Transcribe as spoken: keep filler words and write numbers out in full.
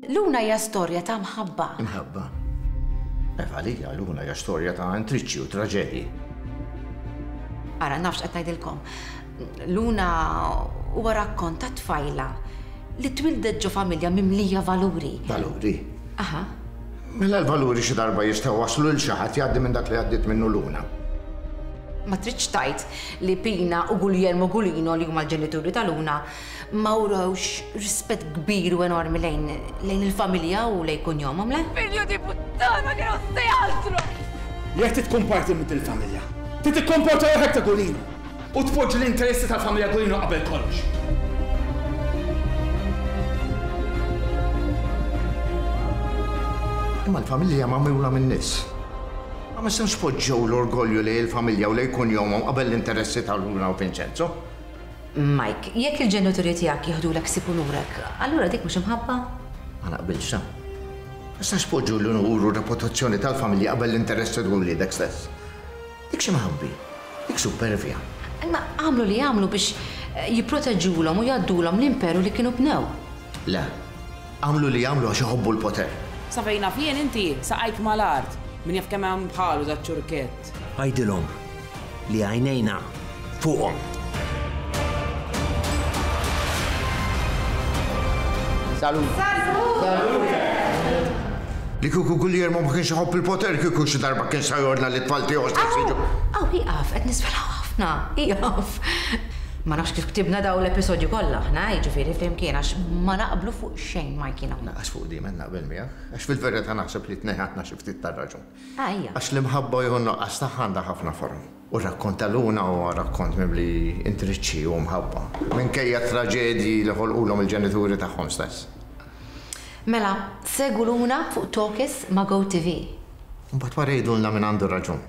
Luna hija storja ta' mħabba. Mħabba? Eva, għalija Luna hija storja ta' intriċċi u traġedji. Ara, nafx qed ngħidilkom. Luna huwa rakkont ta' tfajla li twildet ġo familja mimlija valuri. Valuri? Aha. Mela l-valuri xi darba jistgħu waslu lil xi ħadd jgħaddi minn dak li għaddiet minnu Luna. Ma tridx tgħid li Pina u Guglielmo Gulino li huma l-ġenituri ta' Luna ma wrewx rispett kbir u enormi lejn lejn il-familja u lejn kunjomhom, le? Figlio di puttana che non sei altro! Jekk trid tkun parti minn il-familja, trid tikkomporta ruħek ta' Gulino u tpoġġi l-interessi tal-familja Gulino qabel kollox. Imma l-familja magħmula min-nies. Ma nistgħux poġġew l-orgolju lejn il-familja u lejn kunjomhom qabel l-interessi ta' Luna u Vincenzo. Mike, jekk il-ġenituri tiegħek jieħdulek ħsieb unurek, allura dik mhux imħabba? Ma naqbilx ta. Ma nistax poġġu l-unur u reputazzjoni tal-familja qabel l-interessi ta' wliedek stess. Dik xi mħabbi, dik supervja. Imma għamlu li għamlu biex jipproteġulhom u jgħaddulhom l-imperu li kienu bnew. Le, għamlu li għamlu għax iħobbu l-poter. Sa fejn naf jien inti, saqajk mal-art. Min jaf kemm hemm bħalu da ċurkett. Għidilhom li għajnejna fuqhom. Salut! Salut! Li kieku Guglielmo ma kienx iħobb il-poter, kieku xi darba kien sa jordna li t-tfal tiegħu stess jiġu. Aw, ieqaf, qed nisfelaw ħafna, ieqaf. Ma nafx kif ktibna daw l-episodju kollha aħna, jiġifieri flimkien għax ma naqblu fuq xejn Mike jiena. Naqas fuq di men naqbel miegħek, għax fil-verità naħseb li tnejn ħadna xi ftit tar-raġun. Ah, ejja. Għax l-imħabba jew n-nuqqas tagħha għandha ħafna forom. U r-rakkont ta' Luna huwa rakkont mimli intriċċi u mħabba, minkejja traġedji li ħolqulhom il-ġenituri tagħhom stess. Mela, segu Luna fuq Talkies ma' Go T V. Mbagħad wara jgħidulna min għandu raġun.